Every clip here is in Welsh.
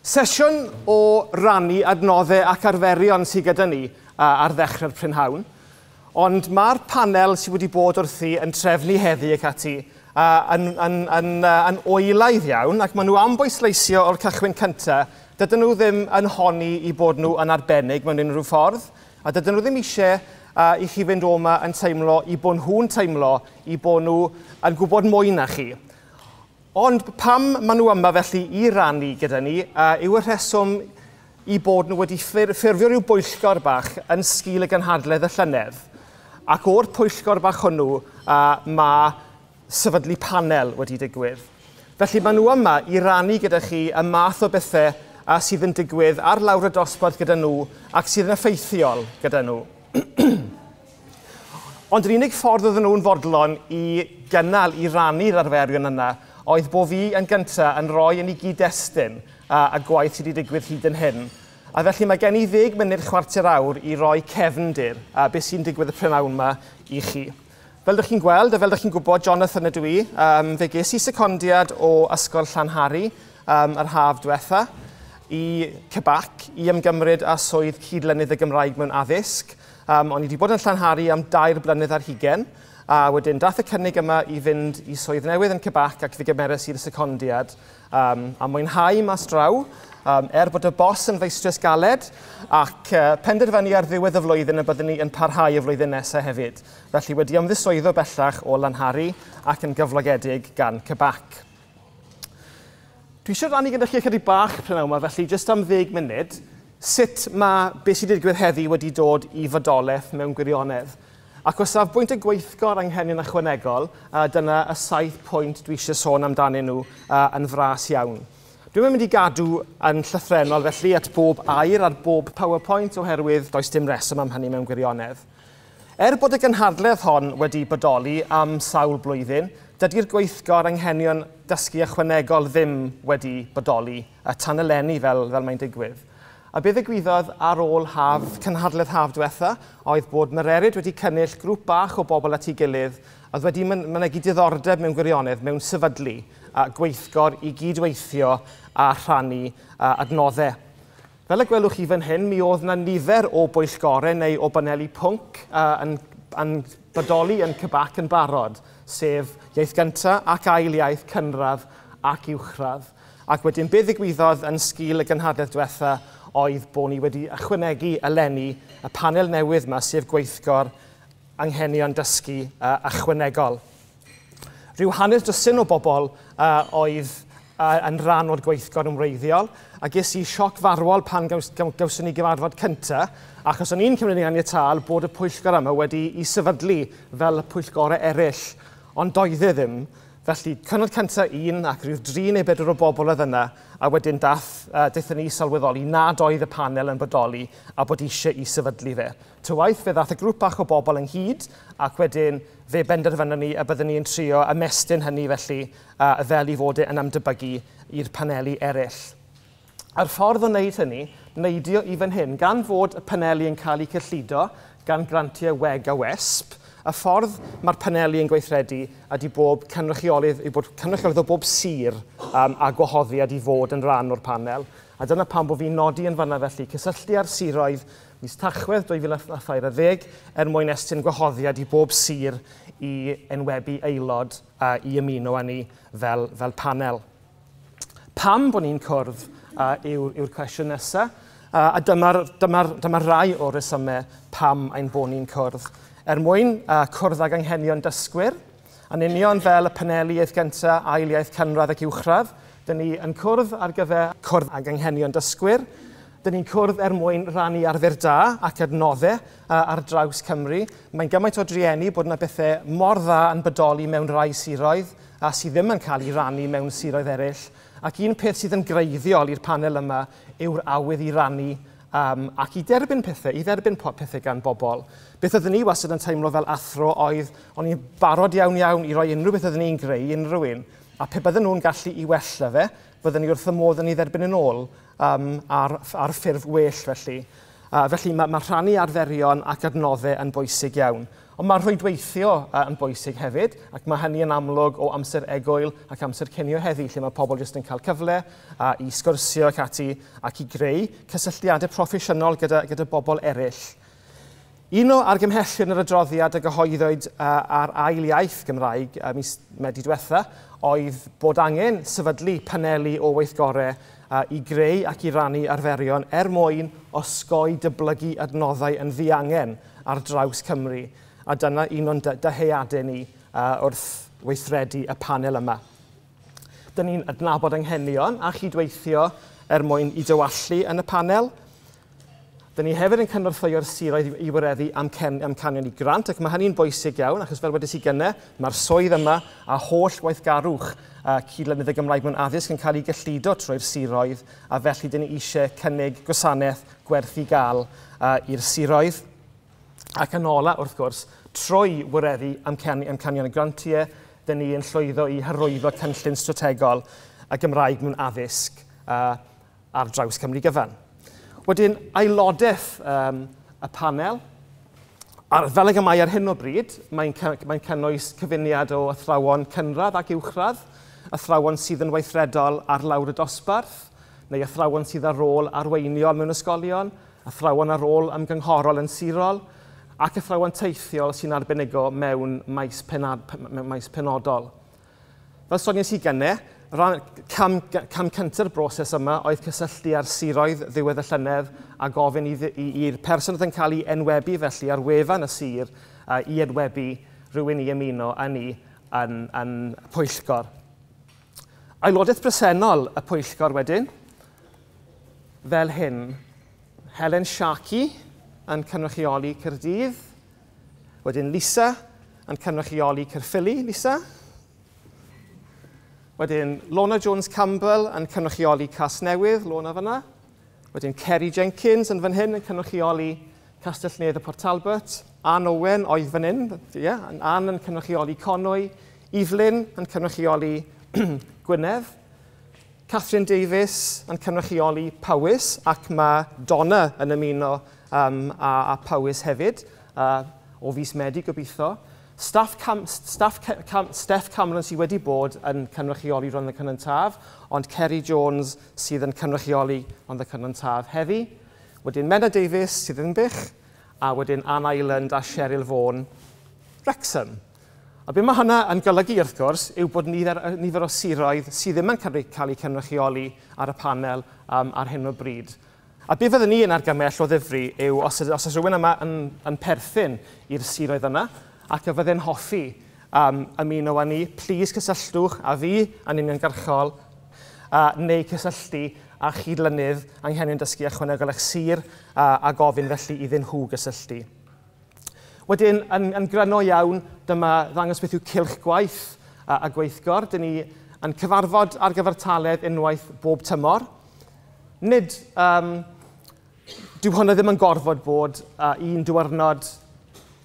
Sesiwn o rannu adnoddau ac arferion sydd gyda ni ar ddechrau'r prynhawn, ond mae'r panel sydd wedi bod wrthi yn trefnu heddi ac ati yn oelaidd iawn, ac maen nhw am bwysleisio o'r cychwyn cyntaf, dydyn nhw ddim yn honni i bod nhw yn arbennig mewn unrhyw ffordd, a dydyn nhw ddim eisiau i chi fynd o'ma yn teimlo i bod nhw'n teimlo i bod nhw yn gwybod mwy na chi. Ond pam maen nhw yma felly i rannu gyda ni yw y rheswm i bod nhw wedi ffurfio rhyw bwyllgor bach yn sgil y gynhadledd y llynedd. Ac o'r pwyllgor bach hwnnw mae sefydlu panel wedi digwydd. Felly maen nhw yma i rannu gyda chi y math o bethau sydd yn digwydd ar lawr y dosbarth gyda nhw ac sydd yn effeithiol gyda nhw. Ond yr unig ffordd oedden nhw'n fodlon i gynnal, i rannu'r arferion yna, oedd bod fi yn gyntaf yn rhoi yn ei gyd-destun a gwaith sydd wedi digwydd hyd yn hyn. A felly mae gen i 10 munud chwarter awr i roi cefndir a beth sy'n digwydd y prynhawn yma i chi. Fel ydych chi'n gweld a fel ydych chi'n gwybod, Jonathan ydw i. Fe ges i secondiad o Ysgol Llanhari yr haf diwetha i CBAC i ymgymryd â swydd cydlynydd y Gymraeg mewn addysg. O'n i wedi bod yn Llanhari am 2 blynedd ar hugain, a wedyn dath y cynnig yma i fynd i swydd newydd yn CBAC ac fe gymeres i'r secondiad a mwynhau mas draw, er bod y bos yn feistres galed, ac penderfynu ar ddiwedd y flwyddyn y byddwn ni yn parhau y flwyddyn nesaf hefyd. Felly wedi ymddiswyddo bellach o Lanhari ac yn gyflogedig gan CBAC. Dwi eisiau rannu gyda chi ychydig bach prynhawn yma, felly jyst am 10 munud, sut mae beth sydd wedi digwydd heddi wedi dod i fodolaeth mewn gwirionedd. Ac o safbwynt y gweithgor anghenion ychwanegol, dyna y 7 pwynt dwi eisiau sôn amdanyn nhw yn fras iawn. Dwi'n mynd i gadw yn llythrennol felly at bob air ar bob PowerPoint oherwydd does dim reswm am hynny mewn gwirionedd. Er bod y gynhadledd hon wedi bodoli am sawl blwyddyn, dydy'r gweithgor anghenion dysgu ychwanegol ddim wedi bodoli a tan eleni fel mae'n digwydd. A beth ddigwyddodd ar ôl haf, cynhadledd haf diwetha oedd bod Mererid wedi cynnull grŵp bach o bobl at ei gilydd oedd wedi mynegi diddordeb mewn gwirionedd mewn sefydlu a gweithgor i gydweithio a rhannu adnoddau. Fel y gwelwch chi fan hyn, mi oedd yna nifer o bwyllgorau neu o baneli pwnc yn bodoli yn CBAC yn barod, sef iaith gyntaf ac ail iaith cynradd ac uwchradd. Ac wedyn beth ddigwyddodd yn sgil y gynhadledd diwetha oedd bod ni wedi ychwanegu eleni y panel newydd yma, sef gweithgor anghenion dysgu ychwanegol. Rhyw hanner dwsin o bobl oedd yn rhan o'r gweithgor yn wreiddiol, a ges i sioc farwol pan gawson ni gyfarfod cyntaf, achos o'n i'n cymryd yn ganiataol bod y pwyllgor yma wedi ei sefydlu fel y pwyllgorau eraill, ond doedd e ddim. Felly, cyfnod cyntaf un ac rhyw 3 neu 4 o bobl oedd yna, a wedyn daethon ni sylweddoli nad oedd y panel yn bodoli a bod eisiau i sefydlu fe. Ta waeth, fe ddath y grŵp bach o bobl ynghyd, ac wedyn fe benderfynon ni y byddwn ni yn trio ymestyn hynny felly fel i fod e yn ymdebygu i'r paneli eraill. A'r ffordd o wneud hynny, neidio i fan hyn, gan fod y paneli yn cael eu cyllido gan grantiau WEG a WESP, y ffordd mae'r paneli yn gweithredu ydy bob cynrychiolydd, i bod cynrychiolydd o bob sir a gwahoddiad i fod yn rhan o'r panel. A dyna pam bod fi'n nodi yn fanna felly, cysylltu â'r siroedd mis Tachwedd 2013 er mwyn estyn gwahoddiad i bob sir i enwebu aelod i ymuno â ni fel panel. Pam bod ni'n cwrdd yw'r cwestiwn nesaf, a dyma rai o'r rhesymau pam ein bod ni'n cwrdd. Er mwyn cwrdd ag anghenion dysgwyr, yn union fel y paneli iaith gyntaf, ail iaith cynradd ac uwchradd, dyn ni yn cwrdd ar gyfer cwrdd ag anghenion dysgwyr. Dyn ni'n cwrdd er mwyn rannu arfer da ac adnoddau ar draws Cymru. Mae'n gymaint o drueni bod yna bethau mor dda yn bodoli mewn rai siroedd a sydd ddim yn cael ei rannu mewn siroedd eraill. Ac un peth sydd yn greiddiol i'r panel yma yw'r awydd i rannu ac i derbyn pethau, i dderbyn pethau gan bobl. Beth oeddwn ni wastad yn teimlo fel athro oedd, o'n i'n barod iawn iawn i roi unrhyw beth oeddwn ni'n greu i unrhyw un. A pe bydden nhw'n gallu i wella fe, bydden ni wrth y modd yn ei dderbyn yn ôl ar ffurf well felly. Felly mae rhannu arferion ac adnoddau yn bwysig iawn. Ond mae rhwydweithio yn bwysig hefyd, ac mae hynny yn amlwg o amser egwyl ac amser cinio heddi, lle mae pobl jyst yn cael cyfle i sgwrsio ac ati ac i greu cysylltiadau proffesiynol gyda bobl eraill. Un o argymhellion yr adroddiad a gyhoeddwyd ar ail iaith Gymraeg mis Medi diwetha oedd bod angen sefydlu paneli o weithgorau i greu ac i rannu arferion er mwyn osgoi dyblygu adnoddau yn ddiangen ar draws Cymru. A dyna un o'n dyheadau ni wrth weithredu y panel yma. Dyn ni'n adnabod anghenion a chydweithio er mwyn i dywallu yn y panel. Dyn ni hefyd yn cynorthwyo'r siroedd i wireddu amcanion i grant, ac mae hynny'n bwysig iawn, achos fel wedes i gynne, mae'r swydd yma a holl weithgarwch cydlynydd y Gymraeg mewn addysg yn cael ei gyllido trwy'r siroedd, a felly dyn ni eisiau cynnig gwasanaeth gwerth i gael i'r siroedd. Ac yn ola, wrth gwrs, trwy wireddu amcanion y grantiau, dyn ni yn llwyddo i hyrwyddo cynllun strategol y Gymraeg mewn addysg ar draws Cymru gyfan. Wedyn, aelodaeth y panel, fel ag y mae ar hyn o bryd, mae'n cynnwys cyfuniad o athrawon cynradd ac uwchradd, athrawon sydd yn weithredol ar lawr y dosbarth, neu athrawon sydd ar rôl arweiniol mewn ysgolion, athrawon ar rôl ymgynghorol yn sirol, ac athrawon teithiol sy'n arbenigo mewn maes penodol. Fel soniais i gynne, cam cynta'r broses yma oedd cysylltu â'r siroedd ddiwedd y llynedd a gofyn i'r person oedd yn cael ei enwebu felly ar wefan y sir i enwebu rhywun i ymuno â ni yn pwyllgor. Aelodaeth bresennol y pwyllgor wedyn, fel hyn, Helen Sharkey yn cynrychioli Caerdydd, wedyn Lisa yn cynrychioli Caerffili, Lisa. Wedyn Lorna Jones-Campbell yn cynrychioli Casnewydd, Lorna fyna. Wedyn Kerry Jenkins yn fan hyn yn cynrychioli Castell-nedd a Port Talbot. Ann Owen oedd fan hyn, yeah, Ann yn cynrychioli Conwy. Evelyn yn cynrychioli Gwynedd. Catherine Davies yn cynrychioli Powys, ac mae Donna yn ymuno a Powys hefyd, o fis Medi gobeithio. Steph Cameron sydd wedi bod yn cynrychioli Rhondda Cynon Taf, ond Kerry Jones sydd yn cynrychioli Rhondda Cynon Taf heddi. Wedyn Menna Davies sydd yn Ddinbych, a wedyn Ann Island a Cheryl Vaughan, Wrexham. A be mae hynna yn golygu wrth gwrs yw bod nifer o siroedd sydd ddim yn cael eu cynrychioli ar y panel ar hyn o bryd. A be fyddwn ni yn argymell o ddifri yw os oes rhywun yma yn perthyn i'r siroedd yna, ac y fydde'n hoffi ymuno â ni, plis cysylltwch â fi yn uniongyrchol neu cysylltu â chydlynydd anghenion dysgu ychwanegol eich sir a gofyn felly iddyn nhw gysylltu. Wedyn, yn gryno iawn, dyma ddangos beth yw cylch gwaith a gweithgor. Dyn ni yn cyfarfod ar gyfartaledd unwaith bob tymor. Nid, dyw hwnna ddim yn gorfod bod un diwrnod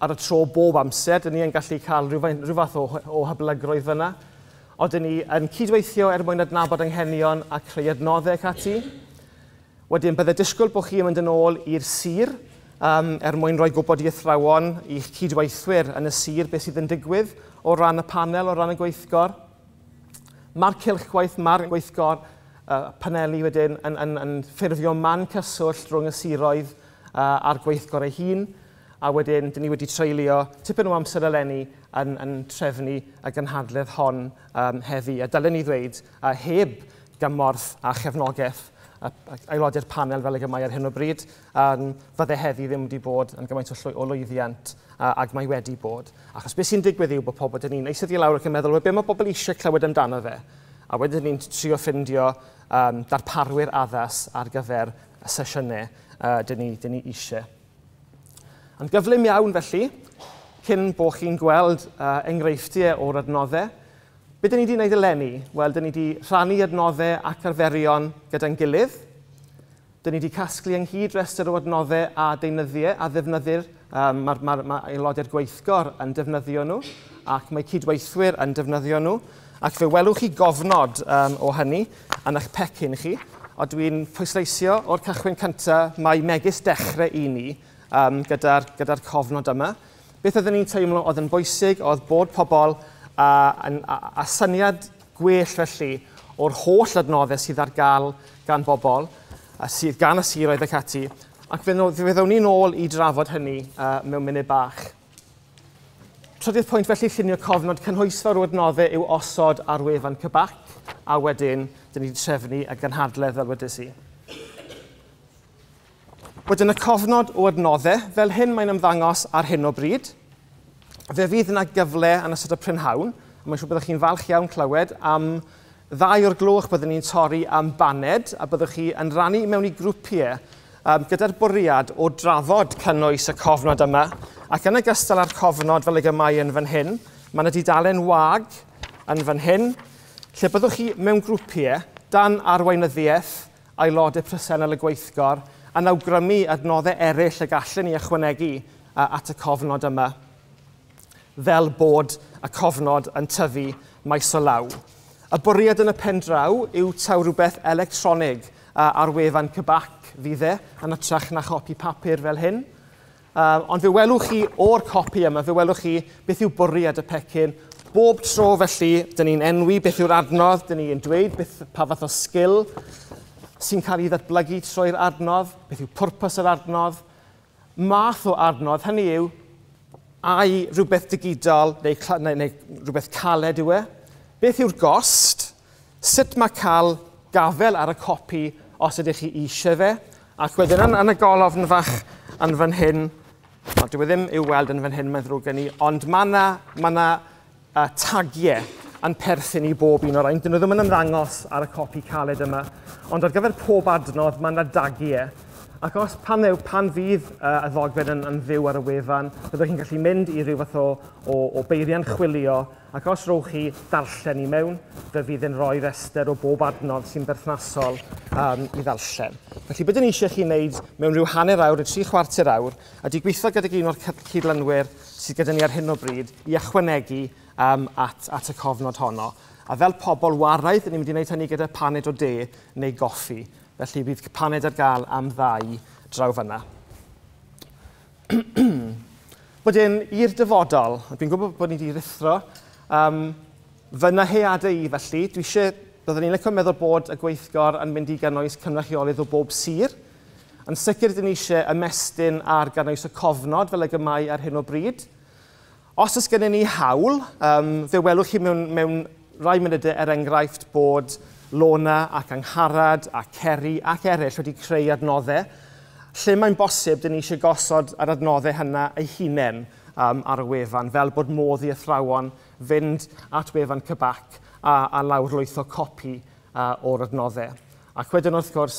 ar y tro bob amser. Dyn ni yn gallu cael rhyw fath o hyblygrwydd fyna. Ond dyn ni yn cydweithio er mwyn adnabod anghenion a creu adnoddau ac ati. Wedyn, bydde disgwyl bod chi yn mynd yn ôl i'r sir er mwyn rhoi gwybod i athrawon, i'ch cydweithwyr yn y sir beth sydd yn digwydd o ran y panel, o ran y gweithgor. Mae'r cylch gwaith, mae'r gweithgor paneli wedyn yn ffurfio man cyswllt rhwng y siroedd a'r gweithgor ei hun. A wedyn, dyn ni wedi treulio tipyn o amser eleni yn trefnu y gynhadledd hon heddi. A dylen ni ddweud, heb gymorth a chefnogaeth aelodau'r panel fel ag y mae ar hyn o bryd, fydde heddi ddim wedi bod yn gymaint o lwyddiant ag mae wedi bod. Achos beth sy'n digwydd yw bod pobl, dyn ni'n eistedd i lawr ac yn meddwl, be mae pobl eisiau clywed amdano fe? A wedyn ni'n trio ffindio darparwyr addas ar gyfer y sesiynau dyn ni eisiau. Yn gyflym iawn felly, cyn bod chi'n gweld enghreifftiau o'r adnoddau, be dyn ni wedi gwneud eleni? Wel, dyn ni wedi rhannu adnoddau ac arferion gyda'n gilydd. Dyn ni wedi casglu ynghyd restr o adnoddau a deunyddiau a ddefnyddir. Mae aelodau'r gweithgor yn defnyddio nhw, ac mae cydweithwyr yn defnyddio nhw. Ac fe welwch chi gofnod o hynny yn eich pecyn chi. A dwi'n pwysleisio o'r cychwyn cyntaf, mae megis dechrau i ni gyda'r cofnod yma. Beth oedden ni'n teimlo oedd yn bwysig oedd bod pobl a syniad gwell felly o'r holl adnoddau sydd ar gael gan bobl, a sydd gan y siroedd ac ati, ac fe ddown ni nôl i drafod hynny mewn munud bach. Trydydd pwynt felly, llunio cofnod cynhwysfawr o adnoddau yw osod ar wefan CBAC, a wedyn, dyn ni wedi trefnu y gynhadledd fel wedes i. Wedyn y cofnod o adnoddau, fel hyn mae'n ymddangos ar hyn o bryd. Fe fydd yna gyfle yn ystod y prynhawn, a mae'n siŵr byddwch chi'n falch iawn clywed am 2 o'r gloch byddwn ni'n torri am baned, a byddwch chi yn rannu mewn i grwpiau gyda'r bwriad o drafod cynnwys y cofnod yma, ac yn ogystal â'r cofnod fel ag y mae yn fan hyn, mae yna dudalen wag yn fan hyn, lle byddwch chi mewn grwpiau dan arweinyddiaeth aelodau presennol y gweithgor yn awgrymu adnoddau eraill y gallen ni ychwanegu at y cofnod yma, fel bod y cofnod yn tyfu maes o law. Y bwriad yn y pen draw yw taw rhywbeth electronig ar wefan CBAC fydd e, yn hytrach na chopi papur fel hyn. Ond fe welwch chi o'r copi yma, fe welwch chi beth yw bwriad y pecyn. Bob tro felly, dyn ni'n enwi beth yw'r adnodd, dyn ni'n dweud beth, pa fath o sgil sy'n cael ei ddatblygu trwy'r adnodd, beth yw pwrpas yr adnodd, math o adnodd, hynny yw, ai rhywbeth digidol neu rhywbeth caled yw e, beth yw'r gost, sut mae cael gafel ar y copi os ydych chi eisiau fe, ac wedyn yn y golofn fach yn fan hyn, no, dyw e ddim i'w weld yn fan hyn, mae'n ddrwg gen i, ond mae yna tagiau yn perthyn i bob un o'r rhain. Dyn nhw ddim yn ymddangos ar y copi caled yma, ond ar gyfer pob adnodd mae yna dagiau. Ac os pan fydd y ddogfen yn fyw ar y wefan, byddwch chi'n gallu mynd i ryw fath o beiriant chwilio, ac os rowch chi darllen i mewn, fe fydd yn rhoi rhestr o bob adnodd sy'n berthnasol i ddarllen. Felly, beth ni eisiau chi wneud mewn rhyw hanner awr neu 3/4 awr, ydy gweithio gydag un o'r cydlynwyr sydd gyda ni ar hyn o bryd i ychwanegu at y cofnod honno. A fel pobl waraidd, ni'n mynd i wneud hynny gyda paned o de neu goffi. Felly bydd paned ar gael am 2 draw fanna. Wedyn, i'r dyfodol, dwi'n gwybod bod ni wedi rhuthro, fy nyheadau i felly, dwi eisiau, byddwn ni'n licio meddwl bod y gweithgor yn mynd i gynnwys cynrychiolydd o bob sir. Yn sicr, dyn ni eisiau ymestyn ar gynnwys y cofnod fel ag y mae ar hyn o bryd. Os oes gennym ni hawl, fe welwch chi mewn rai munudau er enghraifft bod Lona ac Angharad a Ceri ac eraill wedi creu adnoddau. Lle mae'n bosib, dyn ni eisiau gosod yr adnoddau hynna eu hunain ar y wefan, fel bod modd i athrawon fynd at wefan CBAC a lawrlwytho copi o'r adnoddau. Ac wedyn wrth gwrs,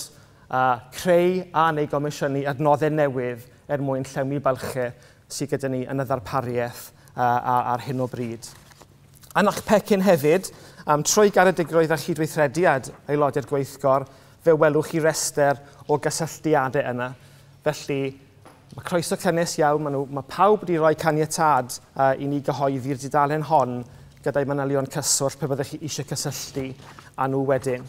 creu a neu gomisiynu adnoddau newydd er mwyn llenwi bylchau sydd gyda ni yn y ddarpariaeth ar hyn o bryd. Yn eich pecyn hefyd, trwy garedigrwydd a chydweithrediad aelodau'r gweithgor, fe welwch chi restr o gysylltiadau yna. Felly, mae croeso cynnes iawn, mae pawb wedi rhoi caniatâd i ni gyhoeddi'r dudalen hon gyda'i manylion cyswllt pe byddech chi eisiau cysylltu â nhw wedyn.